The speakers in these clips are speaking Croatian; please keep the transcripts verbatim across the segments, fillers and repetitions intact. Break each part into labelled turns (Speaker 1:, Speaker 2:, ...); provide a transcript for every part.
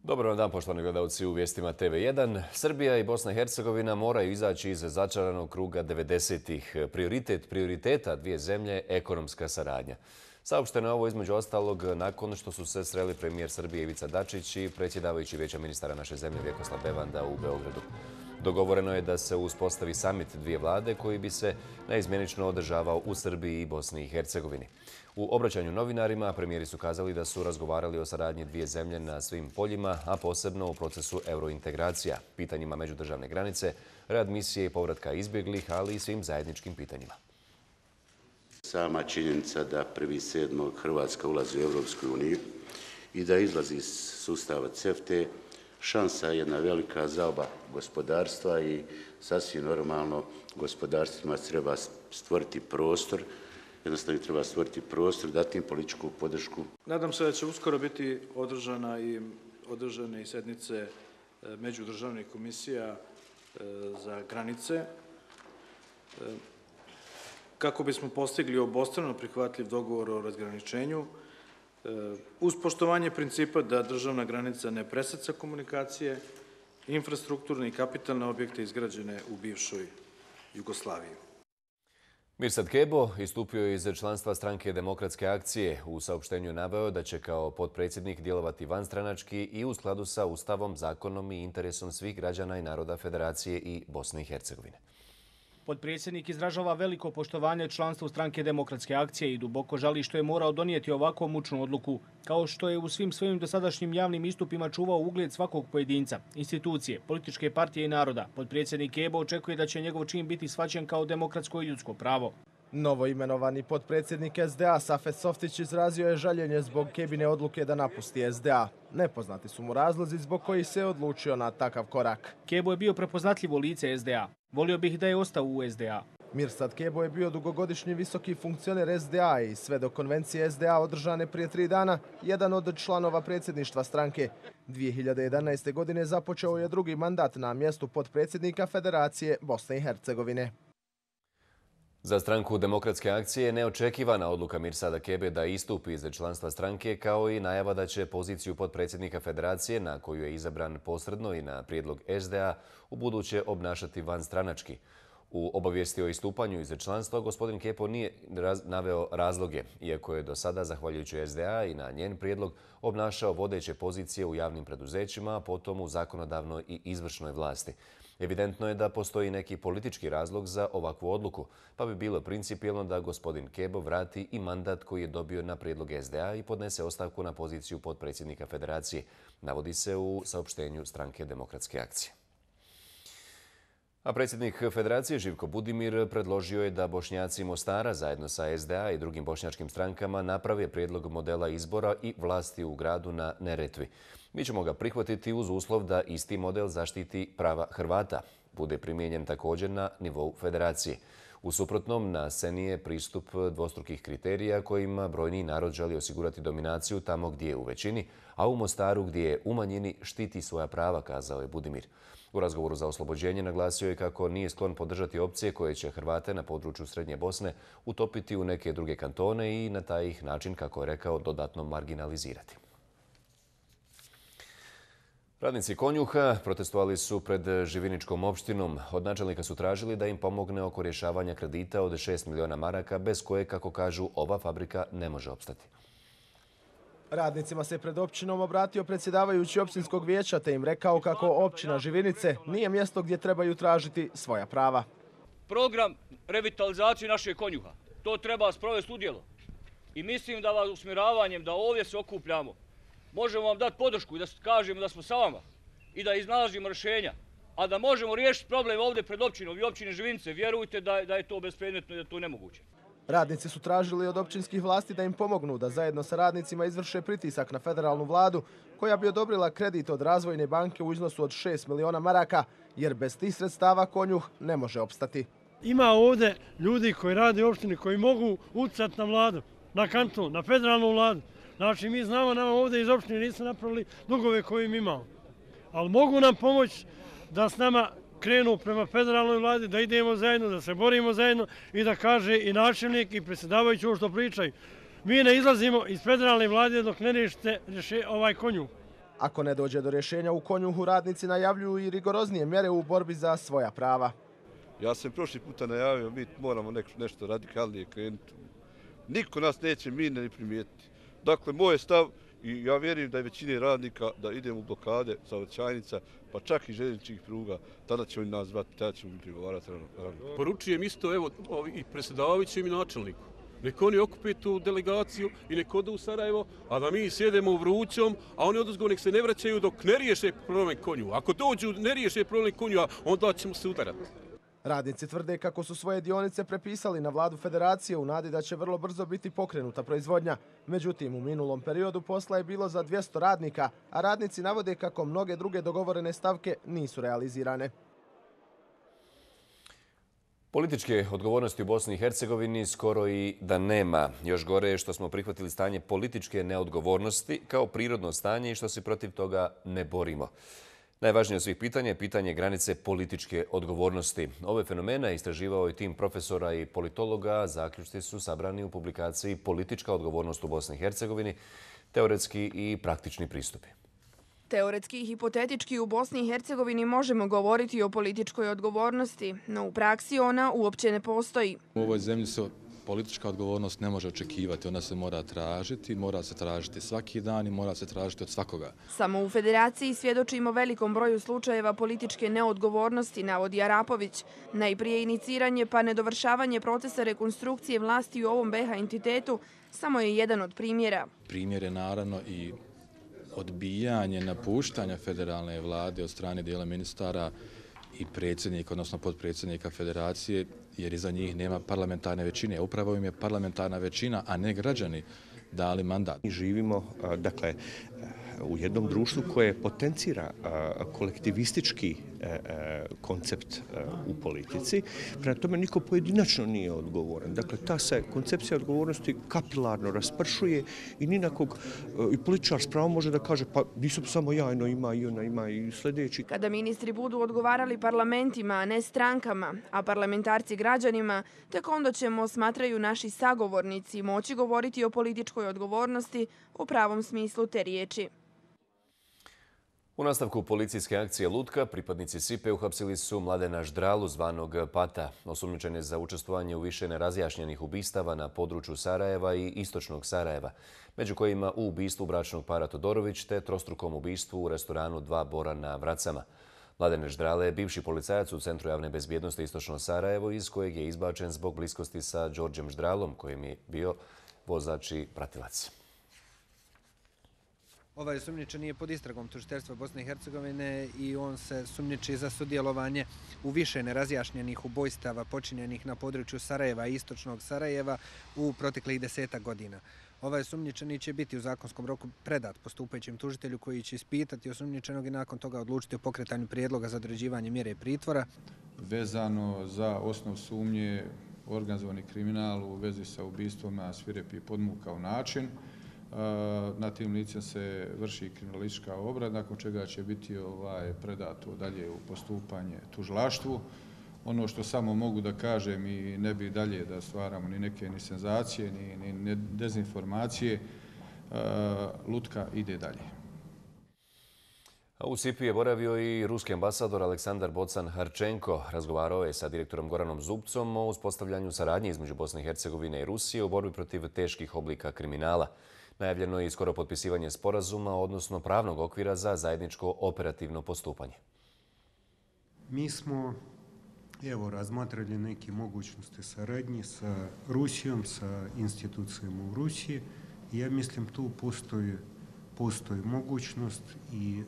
Speaker 1: Dobar vam dan, poštovani gledalci u vijestima T V jedan. Srbija i Bosna i Hercegovina moraju izaći iz začaranog kruga devedesetih. Prioritet prioriteta dvije zemlje – ekonomska saradnja. Saopšteno je ovo između ostalog nakon što su se sreli premijer Srbije Ivica Dačić i predsjedavajući Vijeća ministara naše zemlje Vjekoslav Bevanda u Beogradu. Dogovoreno je da se uspostavi samit dvije vlade koji bi se naizmjenično održavao u Srbiji i Bosni i Hercegovini. U obraćanju novinarima premijeri su kazali da su razgovarali o saradnji dvije zemlje na svim poljima, a posebno u procesu eurointegracija, pitanjima međudržavne granice, readmisije i povratka izbjeglih, ali i svim zajedničkim pitanjima.
Speaker 2: Sama činjenica da prvi sedmog Hrvatska ulazi u Europsku uniju i da izlazi iz sustava C E F T E, šansa je jedna velika za oba gospodarstva i sasvim normalno gospodarstvima treba stvoriti prostor, jednostavno treba stvoriti prostor, dati im političku podršku.
Speaker 3: Nadam se da će uskoro biti održana i održane i sednice međudržavnih komisija za granice kako bismo postigli obostrano prihvatljiv dogovor o razgraničenju uz poštovanje principa da državna granica ne preseca komunikacije, infrastrukturne i kapitalne objekte izgrađene u bivšoj Jugoslaviji.
Speaker 1: Mirsad Kebo istupio je iz članstva stranke Demokratske akcije. U saopštenju je naveo da će kao potpredsjednik djelovati vanstranački i u skladu sa Ustavom, zakonom i interesom svih građana i naroda Federacije i Bosne i Hercegovine.
Speaker 4: Potpredsjednik izražava veliko poštovanje članstvu stranke Demokratske akcije i duboko žali što je morao donijeti ovako mučnu odluku, kao što je u svim svojim dosadašnjim javnim istupima čuvao ugled svakog pojedinca, institucije, političke partije i naroda. Potpredsjednik Kebo očekuje da će njegov čin biti shvaćen kao demokratsko i ljudsko pravo.
Speaker 5: Novo imenovani potpredsjednik S D A Safet Softić izrazio je žaljenje zbog Kebine odluke da napusti S D A. Nepoznati su mu razlozi zbog kojih se odlučio na takav korak.
Speaker 4: Kebo je bio prepoznatljivo lice S D A. Volio bih da je ostao u S D A.
Speaker 5: Mirsad Kebo je bio dugogodišnji visoki funkcioner S D A i sve do konvencije S D A održane prije tri dana, jedan od članova predsjedništva stranke. dvije hiljade jedanaeste. godine započeo je drugi mandat na mjestu potpredsjednika Federacije Bosne i Hercegovine.
Speaker 1: Za stranku Demokratske akcije je neočekivana odluka Mirsada Kebe da istupi iz članstva stranke, kao i najava da će poziciju potpredsjednika Federacije, na koju je izabran posredno i na prijedlog S D A, u buduće obnašati vanstranački. U obavijesti o istupanju iz članstva gospodin Kepo nije naveo razloge, iako je do sada, zahvaljujući S D A i na njen prijedlog, obnašao vodeće pozicije u javnim preduzećima, a potom u zakonodavnoj i izvršnoj vlasti. Evidentno je da postoji neki politički razlog za ovakvu odluku, pa bi bilo principijelno da gospodin Kebo vrati i mandat koji je dobio na prijedlog S D A i podnese ostavku na poziciju potpredsjednika Federacije, navodi se u saopštenju stranke Demokratske akcije. A predsjednik Federacije Živko Budimir predložio je da Bošnjaci Mostara zajedno sa S D A i drugim bošnjačkim strankama naprave prijedlog modela izbora i vlasti u gradu na Neretvi. Mi ćemo ga prihvatiti uz uslov da isti model zaštiti prava Hrvata bude primijenjen također na nivou Federacije. U suprotnom, na sceni je pristup dvostrukih kriterija kojima brojni narod želi osigurati dominaciju tamo gdje je u većini, a u Mostaru gdje je u manjini štiti svoja prava, kazao je Budimir. U razgovoru za oslobođenje naglasio je kako nije sklon podržati opcije koje će Hrvate na području Srednje Bosne utopiti u neke druge kantone i na taj ih način, kako je rekao, dodatno marginalizirati. Radnici Konjuha protestovali su pred Živiničkom opštinom. Od načelnika su tražili da im pomogne oko rješavanja kredita od šest miliona maraka, bez koje, kako kažu, ova fabrika ne može opstati.
Speaker 5: Radnicima se pred općinom obratio predsjedavajući općinskog vijeća te im rekao kako općina Živinice nije mjesto gdje trebaju tražiti svoja prava.
Speaker 6: Program revitalizacije našeg Konjuha, to treba sprovesti u djelo. I mislim da vas usmjeravanjem da ovdje se okupljamo, možemo vam dati podršku i da kažemo da smo sa vama i da iznalazimo rješenja, a da možemo riješiti problem ovdje pred općinom i općine Živinice. Vjerujte da je to bespredmetno i da je to nemoguće.
Speaker 5: Radnici su tražili od općinskih vlasti da im pomognu da zajedno sa radnicima izvrše pritisak na federalnu vladu koja bi odobrila kredit od Razvojne banke u iznosu od šest miliona maraka, jer bez tih sredstava Konjuh ne može opstati.
Speaker 7: Ima ovdje ljudi koji rade u opštini koji mogu utjecati na vladu, na kanton, na federalnu vladu. Znači, mi znamo, nama ovdje iz opštine nisu napravili dugove koje im imamo. Ali mogu nam pomoći da s nama krenu prema federalnoj vladi, da idemo zajedno, da se borimo zajedno i da kaže i načelnik i predsjedavajući ovo što pričaju. Mi ne izlazimo iz federalne vlade dok ne riješite ovaj Konjuh.
Speaker 5: Ako ne dođe do rješenja u Konjuhu, radnici najavljuju i rigoroznije mjere u borbi za svoja prava.
Speaker 8: Ja sam prošli puta najavio, mi moramo nešto radikalnije krenuti. Niko nas neće mine ni primijetiti. Dakle, moj je stav i ja vjerujem da je većini radnika da idemo u blokade saobraćajnica, pa čak i željezničkih pruga, tada će oni nas zvati, tada ćemo mi prigovarati.
Speaker 9: Poručujem isto evo, i predsjedavajućem i načelniku. Nek oni okupe tu delegaciju i nek odu u Sarajevo, a da mi sjedemo u vrućom, a oni oduzgo nek se ne vraćaju dok ne riješe problem Konju. Ako dođu ne riješe problem Konju, onda ćemo se udarati.
Speaker 5: Radnici tvrde kako su svoje dionice prepisali na vladu federacije u nadi da će vrlo brzo biti pokrenuta proizvodnja. Međutim, u minulom periodu posla je bilo za dvjesto radnika, a radnici navode kako mnoge druge dogovorene stavke nisu realizirane.
Speaker 1: Političke odgovornosti u Bosni i Hercegovini skoro i da nema. Još gore je što smo prihvatili stanje političke neodgovornosti kao prirodno stanje i što se protiv toga ne borimo. Najvažnije od svih pitanja je pitanje granice političke odgovornosti. Ove fenomene istraživao je tim profesora i politologa. Zaključci su sabrani u publikaciji Politička odgovornost u Bosni i Hercegovini, teoretski i praktični pristupi.
Speaker 10: Teoretski i hipotetički u Bosni i Hercegovini možemo govoriti o političkoj odgovornosti, no u praksi ona uopće ne postoji.
Speaker 11: U ovoj zemlji se politička odgovornost ne može očekivati, ona se mora tražiti, mora se tražiti svaki dan i mora se tražiti od svakoga.
Speaker 10: Samo u Federaciji svjedočimo velikom broju slučajeva političke neodgovornosti, navodi Arapović. Najprije iniciranje pa nedovršavanje procesa rekonstrukcije vlasti u ovom B H entitetu samo je jedan od primjera.
Speaker 11: Primjer je naravno i odbijanje napuštanja federalne vlade od strane dijela ministara i predsjednika, odnosno potpredsjednika federacije, jer iza njih nema parlamentarne većine. Upravo im je parlamentarna većina, a ne građani, dali mandat.
Speaker 12: Mi živimo, dakle, u jednom društvu koje potencira kolektivistički koncept u politici. Prema tome niko pojedinačno nije odgovoran. Dakle, ta se koncepcija odgovornosti kapilarno raspršuje i ni na kog i političar s pravom može da kaže pa nisam samo ja, eno ima i ona ima i sljedeći.
Speaker 10: Kada ministri budu odgovarali parlamentima, a ne strankama, a parlamentarci građanima, tek onda ćemo, smatraju naši sagovornici, moći govoriti o političkoj odgovornosti u pravom smislu te riječi.
Speaker 1: U nastavku policijske akcije Lutka, pripadnici S I P E uhapsili su Mladena Ždralu, zvanog Pata. Osumnjičen je za učestvovanje u više nerazjašnjenih ubistava na području Sarajeva i istočnog Sarajeva, među kojima u ubistvu bračnog para Todorović te trostrukom ubistvu u restoranu Dva Bora na Vracama. Mladen Ždrale je bivši policajac u Centru javne bezbjednosti Istočno Sarajevo, iz kojeg je izbačen zbog bliskosti sa Đorđem Ždralom, kojim je bio vozač i pratilac.
Speaker 13: Ovaj sumnjičeni je pod istragom tužiteljstva Bosne i Hercegovine i on se sumnjiči za sudjelovanje u više nerazjašnjenih ubojstava počinjenih na području Sarajeva i istočnog Sarajeva u proteklih desetak godina. Ovaj sumnjičeni će biti u zakonskom roku predat postupajućem tužitelju koji će ispitati osumnjičenog i nakon toga odlučiti o pokretanju prijedloga za određivanje mjere pritvora.
Speaker 14: Vezano za osnov sumnje organizovani kriminal u vezi sa ubistvom na svirepi podmukao način. Na tim licem se vrši kriminalistička obrada, nakon čega će biti ovaj predato dalje u postupanje tužilaštvu. Ono što samo mogu da kažem i ne bi dalje da stvaramo ni neke ni senzacije, ni, ni dezinformacije, Lutka ide dalje.
Speaker 1: U S I P I je boravio i ruski ambasador Aleksandar Bocan-Harčenko. Razgovarao je sa direktorom Goranom Zubcom o uspostavljanju saradnje između Bosne i Hercegovine i Rusije u borbi protiv teških oblika kriminala. Najavljeno je i skoro potpisivanje sporazuma, odnosno pravnog okvira za zajedničko operativno postupanje.
Speaker 15: Mi smo evo, razmatrali neke mogućnosti saradnje sa Rusijom, sa institucijama u Rusiji. Ja mislim tu postoji, postoji mogućnost i e,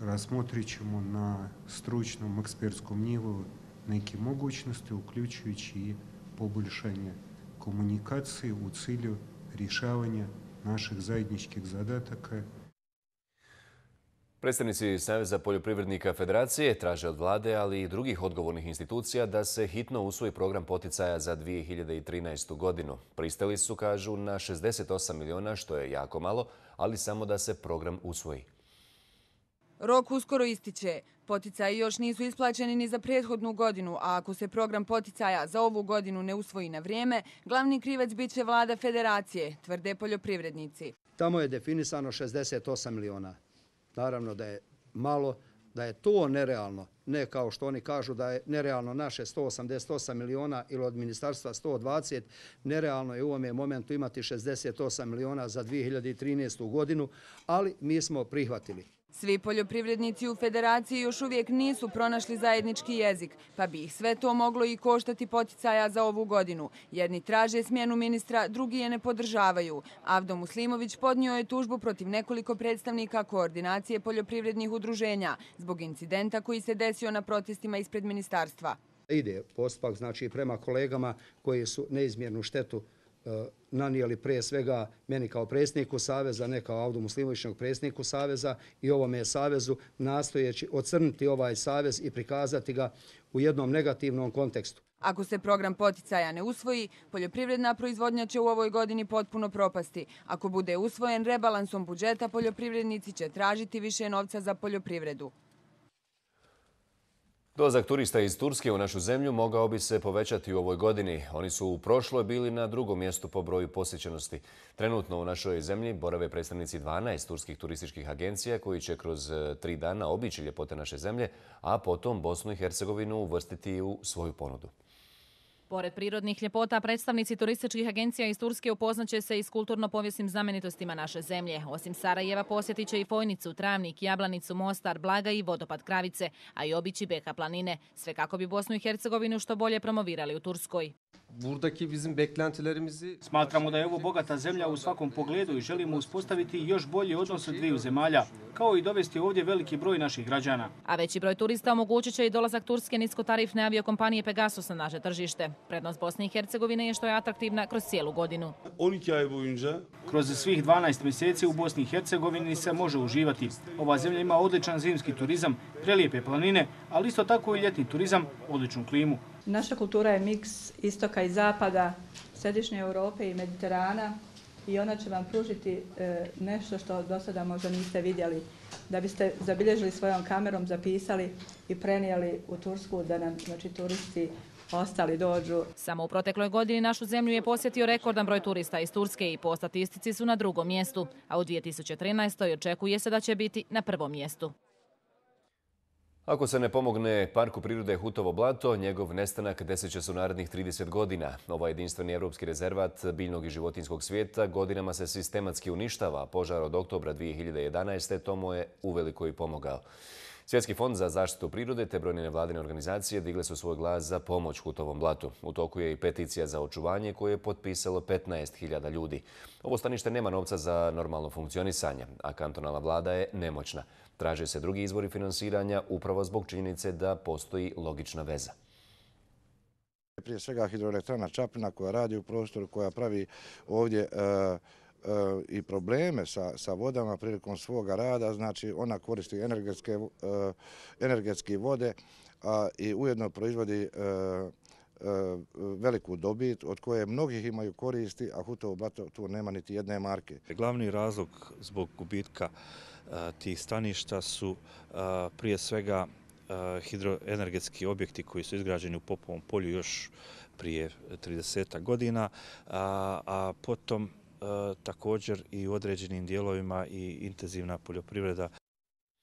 Speaker 15: razmotrit ćemo na stručnom ekspertskom nivou neke mogućnosti, uključujući i poboljšanje komunikacije u cilju rješavanja naših zajedničkih zadataka.
Speaker 1: Predstavnici Saveza poljoprivrednika Federacije traže od vlade, ali i drugih odgovornih institucija da se hitno usvoji program poticaja za dvije hiljade trinaestu. godinu. Pristali su, kažu, na šezdeset osam miliona, što je jako malo, ali samo da se program usvoji.
Speaker 16: Rok uskoro ističe. Poticaji još nisu isplaćeni ni za prethodnu godinu, a ako se program poticaja za ovu godinu ne usvoji na vrijeme, glavni krivac bit će vlada Federacije, tvrde poljoprivrednici.
Speaker 17: tamo je definisano šezdeset osam miliona. Naravno da je malo, da je to nerealno, ne kao što oni kažu da je nerealno naše sto osamdeset osam miliona ili od ministarstva sto dvadeset, nerealno je u ovome momentu imati šezdeset osam miliona za dvije hiljade trinaestu godinu, ali mi smo prihvatili.
Speaker 16: Svi poljoprivrednici u Federaciji još uvijek nisu pronašli zajednički jezik, pa bi ih sve to moglo i koštati poticaja za ovu godinu. Jedni traže smjenu ministra, drugi je ne podržavaju. Avdo Muslimović podnio je tužbu protiv nekoliko predstavnika koordinacije poljoprivrednih udruženja zbog incidenta koji se desio na protestima ispred ministarstva.
Speaker 17: Ide postupak znači prema kolegama koji su neizmjernu štetu nanijeli prije svega meni kao predsjedniku Saveza, ne kao Avdu Muslimovićnog predsjedniku Saveza i ovome Savezu, nastojeći ocrniti ovaj Savez i prikazati ga u jednom negativnom kontekstu.
Speaker 16: Ako se program poticaja ne usvoji, poljoprivredna proizvodnja će u ovoj godini potpuno propasti. Ako bude usvojen, rebalansom budžeta poljoprivrednici će tražiti više novca za poljoprivredu.
Speaker 1: Dolazak turista iz Turske u našu zemlju mogao bi se povećati u ovoj godini. Oni su u prošloj bili na drugom mjestu po broju posjećenosti. Trenutno u našoj zemlji borave predstavnici dvanaest turskih turističkih agencija koji će kroz tri dana obići ljepote naše zemlje, a potom Bosnu i Hercegovinu uvrstiti u svoju ponudu.
Speaker 18: Pored prirodnih ljepota, predstavnici turističkih agencija iz Turske upoznaće se i s kulturno-povijesnim znamenitostima naše zemlje. Osim Sarajeva posjetit će i Fojnicu, Travnik, Jablanicu, Mostar, Blaga i vodopad Kravice, a i obići Beka planine. Sve kako bi Bosnu i Hercegovinu što bolje promovirali u Turskoj.
Speaker 4: Smatramo da je ovo bogata zemlja u svakom pogledu i želimo uspostaviti još bolje odnose dviju zemalja, kao i dovesti ovdje veliki broj naših građana.
Speaker 18: A veći broj turista omogućit će i dolazak turske niskotarifne aviokompanije Pegasus na naše tržište. Prednost Bosne i Hercegovine je što je atraktivna kroz cijelu godinu.
Speaker 4: Kroz svih dvanaest mjeseci u Bosni i Hercegovini se može uživati. Ova zemlja ima odličan zimski turizam, prelijepe planine, ali isto tako i ljetni turizam, odličnu klimu.
Speaker 19: Naša kultura je miks istoka i zapada, središnje Europe i Mediterana i ona će vam pružiti nešto što do sada možda niste vidjeli. Da biste zabilježili svojom kamerom, zapisali i prenijeli u Tursku da nam znači, turisti ostali dođu.
Speaker 18: Samo u protekloj godini našu zemlju je posjetio rekordan broj turista iz Turske i po statistici su na drugom mjestu, a u dvije tisuće trinaestoj očekuje se da će biti na prvom mjestu.
Speaker 1: Ako se ne pomogne Parku prirode Hutovo blato, njegov nestanak desit će se u narednih trideset godina. Ovaj jedinstveni evropski rezervat biljnog i životinjskog svijeta godinama se sistematski uništava. Požar od oktobra dvije hiljade jedanaeste tomu je uveliko i pomogao. Svjetski fond za zaštitu prirode te brojne nevladine organizacije digle su svoj glas za pomoć Hutovom blatu. U toku je i peticija za očuvanje koju je potpisalo petnaest hiljada ljudi. Ovo stanište nema novca za normalno funkcionisanje, a kantonalna vlada je nemoćna. Traže se drugi izvori finansiranja upravo zbog činjenice da postoji logična veza.
Speaker 20: Prije svega hidroelektrana Čapljina koja radi u prostoru, koja pravi ovdje i probleme sa, sa vodama prilikom svoga rada, znači ona koristi energetske, energetske vode a, i ujedno proizvodi a, a, veliku dobit od koje mnogih imaju koristi, a Hutovo blato tu nema niti jedne marke.
Speaker 21: Glavni razlog zbog gubitka a, tih staništa su a, prije svega a, hidroenergetski objekti koji su izgrađeni u Popovom polju još prije trideset godina, a, a potom također i u određenim dijelovima i intenzivna poljoprivreda.